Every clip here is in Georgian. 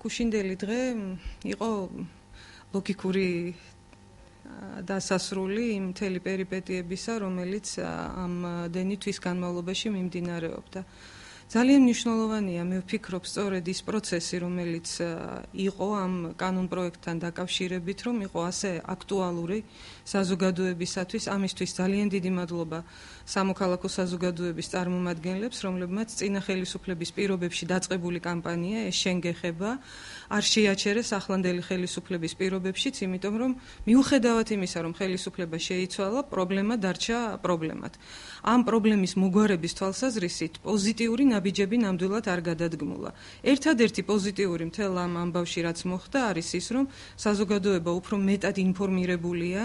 გუშინდელი დღე იყო ლოგიკური დასასრული იმ მთელი პერიპეტიებისა, რომელიც ამდენი თვის განმავლობაში მიმდინარეობდა. ძალიან მნიშვნელოვანია, მე ვფიქრობ, სწორედ ის პროცესი, რომელიც იყო ამ კანონპროექტთან დაკავშირებით, რომ იყო ასე აქტუალური საზოგადოებისათვის, ამისთვის ძალიან დიდი მადლობა სამოქალაქო საზოგადოების წარმომადგენლებს, რომლებმაც წინა ხელისუფლების პირობებში დაწყებული კამპანია ეს შენ გეხება არ შეაჩერეს ახლანდელი ხელისუფლების პირობებშიც, იმიტომ რომ მიუხედავად იმისა, რომ ხელისუფლება შეიცვალა, პრობლემა დარჩა პრობლემად. ამ პრობლემის მოგვარების თვალსაზრისით პოზიტიური ნაბიჯები ნამდვილად არ გადადგმულა. ერთადერთი პოზიტიური მთელ ამ ამბავში რაც მოხდა არის ის, რომ საზოგადოება უფრო მეტად ინფორმირებულია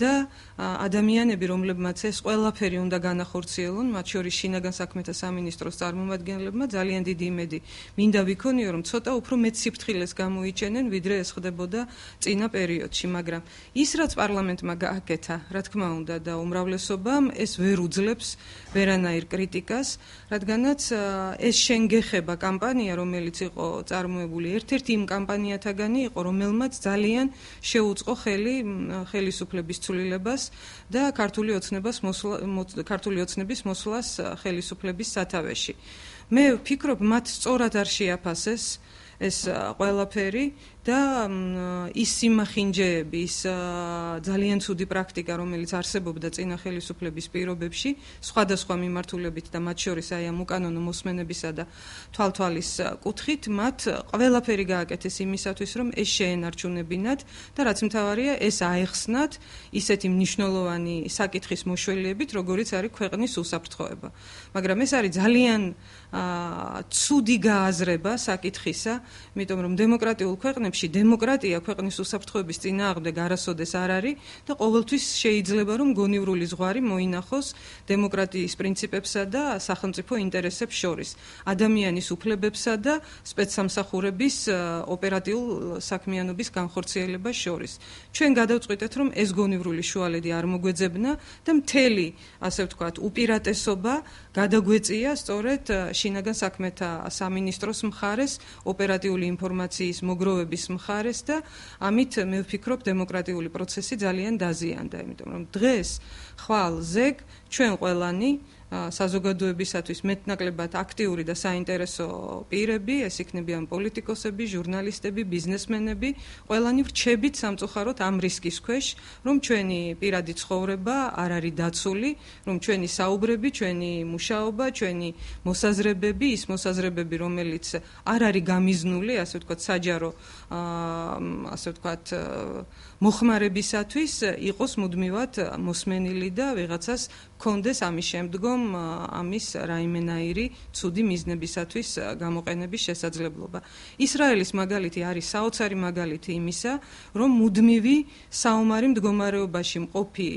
და ადამიანები, რომლებმაც ეს ყველაფერი უნდა განახორციელონ, მათ შორის შინაგან საქმეთა სამინისტროს წარმომადგენლებმა ძალიან დიდი იმედი მინდა ვიქონიო, რომ ცოტა უფრო მეტ სიფრთხილეს გამოიჩენენ, ვიდრე ეს ხდებოდა წინა პერიოდში, მაგრამ ის რაც პარლამენტმა გააკეთა, რა თქმა უნდა და უმრავლესობამ ეს ვერ უძლებს ვერანაირ კრიტიკას, რადგანაც ეს შენ გეხება კამპანია, რომელიც იყო წარმოებული ერთ-ერთი იმ კამპანიათაგანი იყო, რომელმაც ძალიან შეუწყო ხელი ხელისუფლების ცვლილებას და ქართული ოცნების მოსვლას ხელისუფლების სათავეში. მე ვფიქრობ, მათ სწორად არ შეაფასეს ეს ყველაფერი და ის სიმახინჯეები, ის ძალიან ცუდი პრაქტიკა, რომელიც არსებობდა წინა ხელისუფლების პირობებში, სხვადასხვა მიმართულებით და მათ შორის აი ამ უკანონო მოსმენებისა და თვალთვალის კუთხით, მათ ყველაფერი გააკეთეს იმისათვის, რომ ეს შეენარჩუნებინათ და რაც მთავარია, ეს აეხსნათ ისეთი მნიშვნელოვანი საკითხის მოშველიებით, როგორიც არის ქვეყნის უსაფრთხოება. მაგრამ ეს არის ძალიან ცუდი გააზრება საკითხისა, იმიტომ რომ დემოკრატიულ ქვეყნებში დემოკრატია ქვეყნის უსაფრთხოების წინააღმდეგ არასოდეს არ არის და ყოველთვის შეიძლება რომ გონივრული ზღვარი მოინახოს დემოკრატიის პრინციპებსა და სახელმწიფო ინტერესებს შორის, ადამიანის უფლებებსა და სპეცსამსახურების ოპერატიულ საქმიანობის განხორციელებას შორის. ჩვენ გადავწყვიტეთ, რომ ეს გონივრული შუალედი არ მოგვეძებნა და მთელი, ასე ვთქვათ, უპირატესობა გადაგვეწია სწორედ შინაგან საქმეთა სამინისტროს მხარეს, ოპერატიული ინფორმაციის მოგროვების მხარეს და ამით მე ვფიქრობ დემოკრატიული პროცესი ძალიან დაზიანდა, იმიტომ რომ დღეს ხვალ ზეგ ჩვენ ყველანი საზოგადოებისათვის მეტნაკლებად აქტიური და საინტერესო პირები, ეს იქნებიან პოლიტიკოსები, ჟურნალისტები, ბიზნესმენები, ყველანი ვრჩებით სამწუხაროდ ამ რისკის ქვეშ, რომ ჩვენი პირადი ცხოვრება არ არის დაცული, რომ ჩვენი საუბრები, ჩვენი მუშაობა, ჩვენი მოსაზრებები, ის მოსაზრებები, რომელიც არ არის გამიზნული, ასე ვთქვათ, საჯარო, ასე ვთქვათ, მოხმარებისათვის იყოს მუდმივად მოსმენილი და ვიღაცას კონდეს ამის შემდგომ ამის რაიმენაირი ცუდი მიზნებისათვის გამოყენების შესაძლებლობა. ისრაელის მაგალითი არის საოცარი მაგალითი იმისა, რომ მუდმივი საომარი მდგომარეობაში მყოფი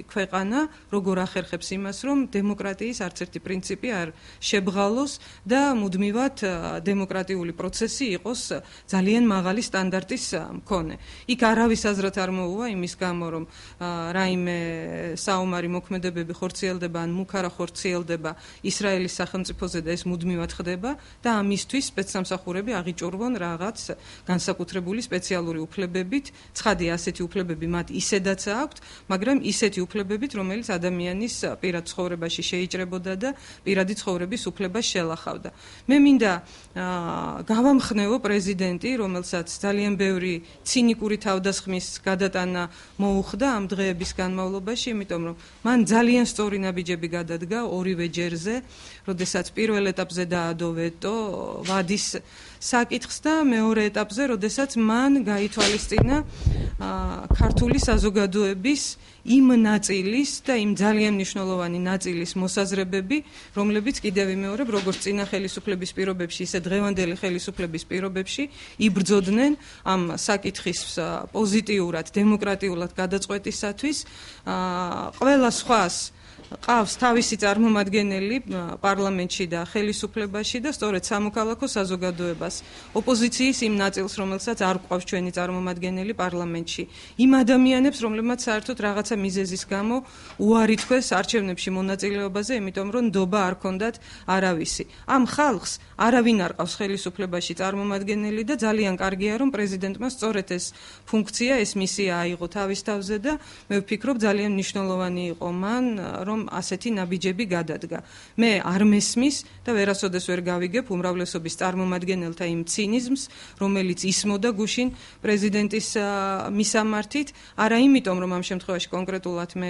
ქვეყანა როგორ ახერხებს იმას, რომ დემოკრატიის არც ერთი პრინციპი არ შებღალოს და მუდმივად დემოკრატიული პროცესი იყოს ძალიან მაღალი სტანდარტის მქონე. იქ არავის აზრად არ მოუვა იმის გამო, რომ რაიმე საომარი მოქმედებები ხორციელდება ან მუქარა ხორციელდება ისრაელის სახელმწიფოზე და ეს მუდმივად ხდება და ამისთვის სპეცსამსახურები აღიჭურვონ რაღაც განსაკუთრებული სპეციალური უფლებებით, ცხადია ასეთი უფლებები მათ ისედაც აქვთ, მაგრამ ისეთი უფლებებით, რომელიც ადამიანის პირად ცხოვრებაში შეიჭრებოდა და პირადი ცხოვრების უფლებას შელახავდა. მე მინდა გავამხნევო პრეზიდენტი, რომელსაც ძალიან ბევრი ცინიკური თავდასხმის გადატანა მოუხდა ამ დღეების განმავლობაში, იმიტომ რომ მან ძალიან სწორი ნაბიჯები გადადგა ორივე ჯერზე, როდესაც პირველ ეტაპზე დაადო ვეტო ვადის საკითხს და მეორე ეტაპზე, როდესაც მან გაითვალისწინა ქართული საზოგადოების იმ ნაწილის და იმ ძალიან მნიშვნელოვანი ნაწილის მოსაზრებები, რომლებიც კიდევ ვიმეორებ, როგორც წინა ხელისუფლების პირობებში, ისე დღევანდელი ხელისუფლების პირობებში იბრძოდნენ ამ საკითხის პოზიტიურად, დემოკრატიულად გადაწყვეტისათვის, ყველა სხვას ყავს თავისი წარმომადგენელი პარლამენტში და ხელისუფლებაში და სწორედ სამოქალაქო საზოგადოებას ოპოზიციის იმ ნაწილს, რომელსაც არ ყავს ჩვენი წარმომადგენელი პარლამენტში, იმ ადამიანებს, რომლებმაც საერთოდ რაღაცა მიზეზის გამო უარი თქვეს არჩევნებში მონაწილეობაზე, იმიტომ რომ ნდობა არ ქონდათ არავისი. ამ ხალხს არავინ არ ყავს ხელისუფლებაში წარმომადგენელი და ძალიან კარგია, რომ პრეზიდენტმა სწორედ ეს ფუნქცია, ეს მისია აიღო თავის თავზე და მე ვფიქრობ ძალიან მნიშვნელოვანი იყო მან, რომ ასეთი ნაბიჯები გადადგა. მე არ მესმის და ვერასოდეს ვერ გავიგებ უმრავლესობის წარმომადგენელთა იმ ცინიზმს, რომელიც ისმოდა გუშინ პრეზიდენტის მისამართით, არა იმიტომ, რომ ამ შემთხვევაში კონკრეტულად მე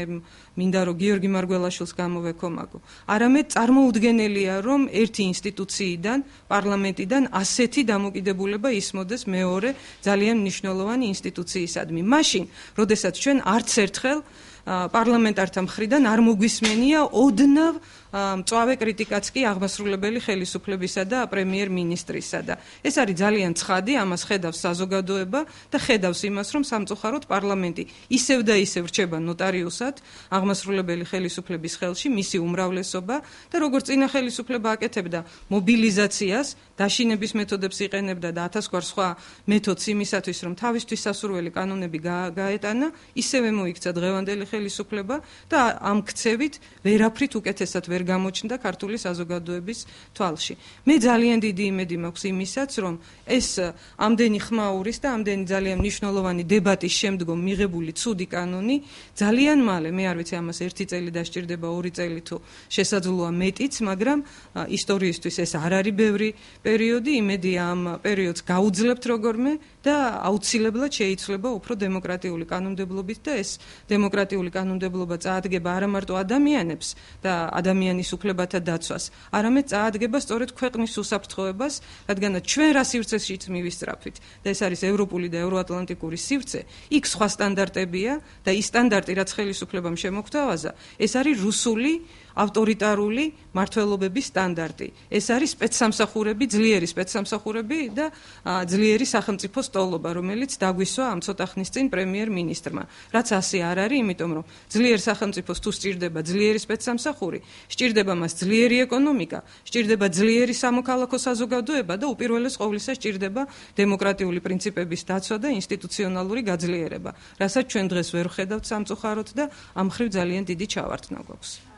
მინდა რომ გიორგი მარგველაშვილს გამოვეკომაგო. არამედ წარმოუდგენელია, რომ ერთი ინსტიტუციიდან, პარლამენტიდან ასეთი დამოკიდებულება ისმოდეს მეორე ძალიან მნიშვნელოვანი ინსტიტუციისადმი. მაშინ, როდესაც ჩვენ არც ერთხელ პარლამენტართა მხრიდან არ მოგვისმენია ოდნავ მწვავე კრიტიკაც კი აღმასრულებელი ხელისუფლებისა და პრემიერ-მინისტრისა და ეს არის ძალიან ცხადი, ამას ხედავს საზოგადოება და ხედავს იმას, რომ სამწუხაროდ პარლამენტი ისევ და ისევ რჩება ნოტარიუსად აღმასრულებელი ხელისუფლების ხელში, მისი უმრავლესობა და როგორც წინა ხელისუფლება აკეთებდა მობილიზაციას, დაშინების მეთოდებს იყენებდა და ათასგვარ სხვა მეთოდს იმისათვის, რომ თავისთვის სასურველი კანონები გაეტანა, ისევე მოიქცა დღევანდელი ხელისუფლება და ამ ქცევით ვერაფრით უკეთესად ვერ გამოჩნდა ქართული საზოგადოების თვალში. მე ძალიან დიდი იმედი მაქვს იმისაც, რომ ეს ამდენი ხმაურის და ამდენი ძალიან მნიშვნელოვანი დებატის შემდგომ მიღებული ცუდი კანონი ძალიან მალე, მე არ ვიცი ამას 1 წელი დასჭირდება, 2 წელი თუ შესაძლოა მეტიც, მაგრამ ისტორიისთვის ეს არ არის ბევრი პერიოდი, იმედი ამ პერიოდს გაუძლებთ როგორმე და აუცილებლად შეიცვლება უფრო დემოკრატიული კანონმდებლობით და ეს დემოკრატიული კანონმდებლობა წაადგება არა მარტო ადამიანებს და ადამიანის უფლებათა დაცვას, არამედ წაადგება სწორედ ქვეყნის უსაფრთხოებას, რადგანაც ჩვენ რა სივრცეშიც მივისწრაფით და ეს არის ევროპული და ევროატლანტიკური სივრცე, იქ სხვა სტანდარტებია და ის სტანდარტი, რაც ხელისუფლებამ შემოგთავაზა, ეს არის რუსული ავტორიტარული მართლობების სტანდარტი. ეს არის სპეცსამსახურები, ძლიერი სპეცსამსახურები და ძლიერი სახელმწიფო სტოლობა, რომელიც დაგვისვა ამ ცოტა ხნის წინ პრემიერ-მინისტრმა. რაც ასე არ არის, იმიტომ რომ ძლიერ სახელმწიფოს თუ სჭირდება ძლიერი სპეცსამსახური, სჭირდება მას ძლიერი ეკონომიკა, სჭირდება ძლიერი სამოქალაქო საზოგადოება და უპირველეს ყოვლისა სჭირდება დემოკრატიული პრინციპების დაცვა და ინსტიტუციონალური გაძლიერება, რასაც ჩვენ დღეს ვერ ვხედავთ სამწუხაროდ და ამ მხრივ ძალიან დიდი ჩავართნა გვაქვს.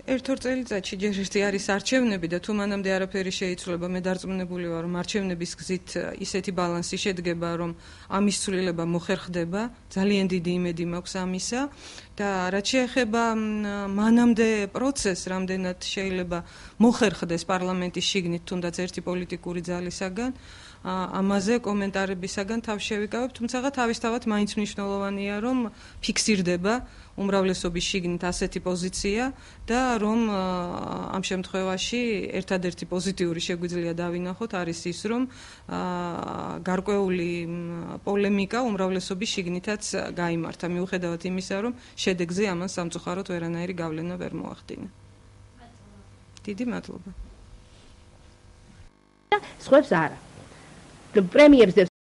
ერთ-ორ წელიწადში ჯერ ერთი არის არჩევნები და თუ მანამდე არაფერი შეიცვლება, მე დარწმუნებული ვარ, რომ არჩევნების გზით ისეთი ბალანსი შედგება, რომ ამის ცვლილება მოხერხდება, ძალიან დიდი იმედი მაქვს ამისა და რაც შეეხება მანამდე პროცესს, რამდენად შეიძლება მოხერხდეს პარლამენტის შიგნით თუნდაც ერთი პოლიტიკური ძალისაგან, ამაზე კომენტარებისაგან თავს შევიკავებ, თუმცა თავისთავად მაინც მნიშვნელოვანია, რომ ფიქსირდება უმრავლესობის შიგნით ასეთი პოზიცია და რომ ამ შემთხვევაში ერთადერთი პოზიტიური შეგვიძლია დავინახოთ არის ის, რომ გარკვეული პოლემიკა უმრავლესობის შიგნითაც გაიმართა, მიუხედავად იმისა, რომ შედეგზე ამან სამწუხაროდ ვერანაირი გავლენა ვერ მოახდინა. დიდი მადლობა. სხვებს არა. პრემიერს